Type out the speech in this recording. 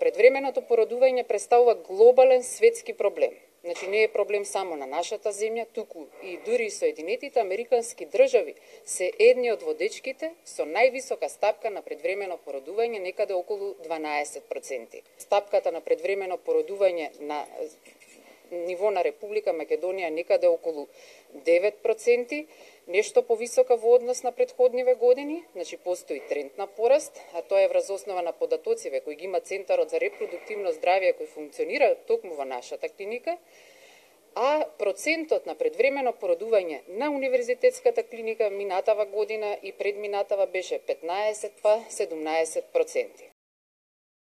Предвременото породување представува глобален светски проблем. Значи не е проблем само на нашата земја, туку и дури Соединетите Американски држави се едни од водечките со највисока стапка на предвремено породување, некаде околу 12%. Стапката на предвремено породување на ниво на Република Македонија некаде околу 9%, нешто повисока во однос на претходниве години, значи постои тренд на пораст, а тоа е врз основа на податоциве кои ги има Центарот за репродуктивно здравје кој функционира токму во нашата клиника, а процентот на предвремено породување на Универзитетската клиника минатава година и предминатава беше 15 па 17%.